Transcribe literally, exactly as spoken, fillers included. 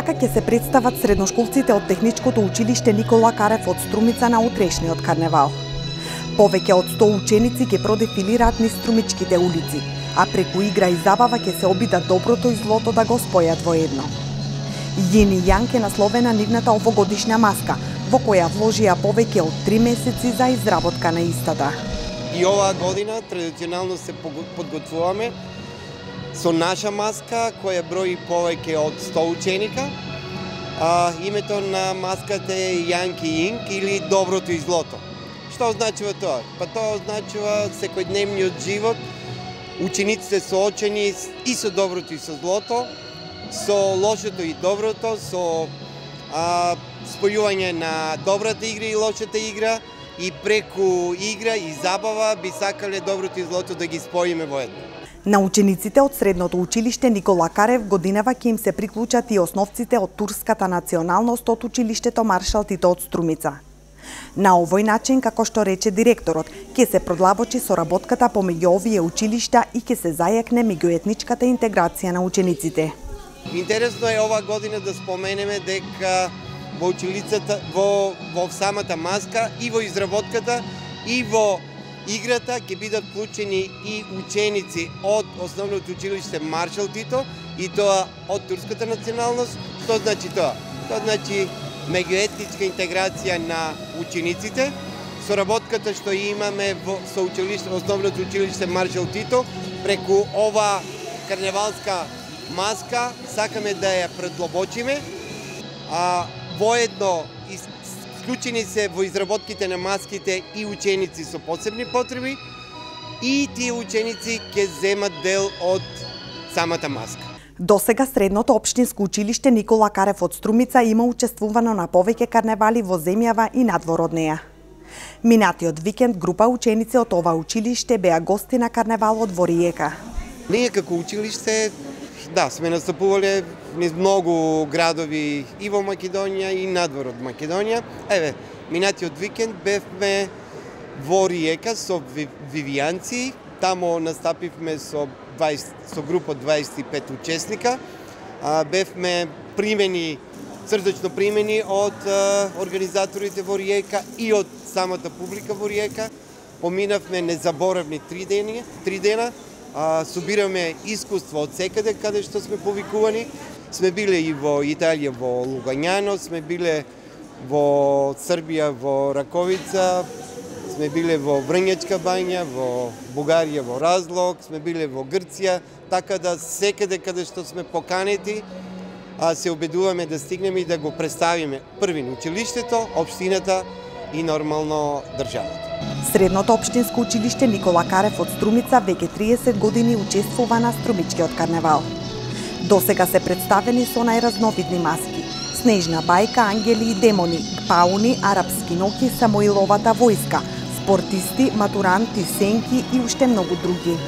Така ќе се представат средношколците од Техничкото училиште Никола Карев од Струмица на утрешниот карневал. Повеќе од сто ученици ќе продефилираат низ струмичките улици, а преку игра и забава ќе се обидат доброто и злото да го спојат во едно. Јин и Јанг е насловена нивната овогодишна маска, во која вложија повеќе од три месеци за изработка на истата. И оваа година традиционално се подготвуваме со наша маска која брои повеќе од сто ученика. А, името на маската е Јанг и Јинг или доброто и злото. Што означува тоа? Па тоа означува секојдневниот живот, учениците соочени и со доброто и со злото, со лошото и доброто, со а, спојување на добрата игра и лошата игра, и преку игра и забава би сакале доброто и злото да ги споиме во едно. На учениците од средното училиште Никола Карев годинава ќе им се приклучат и основците од турската националност од училиштето Маршал Тито од Струмица. На овој начин, како што рече директорот, ќе се продлабочи соработката помеѓу овие училишта и ќе се зајакне меѓуетничката интеграција на учениците. Интересно е ова година да споменеме дека во училицата, во, во самата маска и во изработката и во играта ќе бидат вклучени и ученици од основното училиште Маршал Тито и тоа од турската националност. Што значи тоа? Тоа значи меѓуетничка интеграција на учениците. Соработката што имаме во со училиште, основното училиште Маршал Тито преку ова карневалска маска сакаме да ја предлобочиме. А воедно вклучени се во изработките на маските и ученици со посебни потреби и тие ученици ќе земат дел од самата маска. Досега средното општинско училиште Никола Карев од Струмица има учествувано на повеќе карневали во земјава и надвор од неа. Минатиот викенд група ученици од ова училиште беа гости на карневалот во Риека. Ние како училиште, да, сме настапувале низ многу градови и во Македонија и надвор од Македонија. Еве, минатиот викенд бевме во Риека со вивијанци. Тамо настапивме со дваесет со група од дваесет и пет учесника. А, бевме примени, срдечно примени од а, организаторите во Риека и од самата публика во Риека. Поминавме незаборавни три дени, три дена. А, собираме искуство од секаде каде што сме повикувани. Сме биле и во Италија, во Лугањано, сме биле во Србија, во Раковица, сме биле во Врњачка бања, во Бугарија, во Разлог, сме биле во Грција, така да секаде каде што сме поканети, а, се обидуваме да стигнеме и да го представиме први на училиштето, општината и нормално државата. Средното општинско училиште Никола Карев од Струмица веќе триесет години учествува на Струмичкиот карневал. Досега се представени со најразновидни маски: снежна бајка, ангели и демони, пауни, арапски ноки, Самоиловата војска, спортисти, матуранти, сенки и уште многу други.